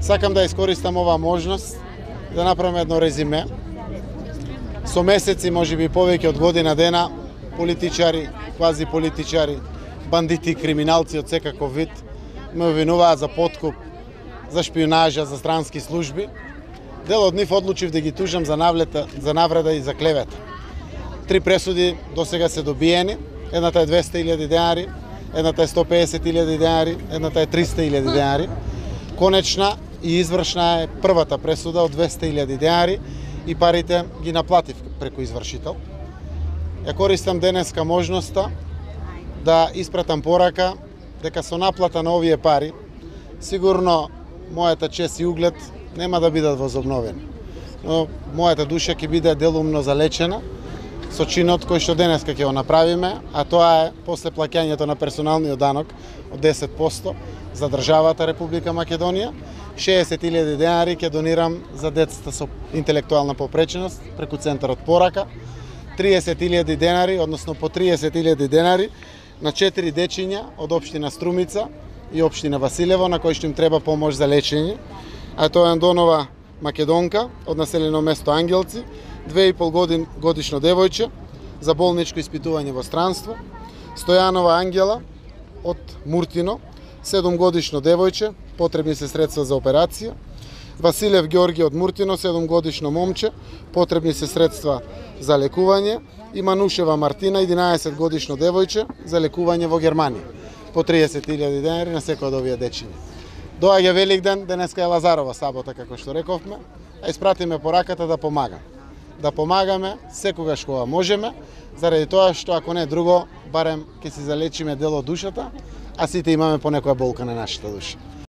Сакам да искористам оваа можност да направам едно резиме. Со месеци, можеби повеќе од година дена, политичари, квази политичари, бандити, криминалци од секаков вид ме обвинуваат за подкуп, за шпионажа, за странски служби. Дел од нив одлучив да ги тужам за навреда и за клевета. 3 пресуди досега се добиени. Едната е 200.000 денари, едната е 150.000 денари, едната е 300.000 денари. Конечна и извршна е првата пресуда од 200.000 денари и парите ги наплатив преку извршител. Ја користам денеска можноста да испратам порака дека со наплата на овие пари сигурно мојата чест и углед нема да бидат возобновени. Но мојата душа ќе биде делумно залечена со чинот кој што денеска ќе го направиме, а тоа е после плаќањето на персоналниот данок од 10% за државата Република Македонија. 60.000 денари ќе донирам за децата со интелектуална попреченост преку центарот Порака. 30.000 денари, односно по 30.000 денари на 4 дечиња од општина Струмица и општина Василево на кои што им треба помош за лечење. А тоа е Андонова Македонка од населено место Ангелци, 2,5 годишно девојче за болничко испитување во странство. Стојанова Ангела од Муртино, 7 годишно девојче, потребни се средства за операција. Василев Ѓорги од Муртино, 7 годишно момче, потребни се средства за лекување. И Манушева Мартина, 11 годишно девојче, за лекување во Германија. По 30.000 денари на секој од овие дечиња. Доаѓа Великден, денеска е Лазарова сабота, како што рековме, а испратиме пораката да помагам. Да помагаме секогаш кога можеме, заради тоа што ако не друго, барем ќе си залечиме дел од душата, а сите имаме по некоја болка на нашата душа.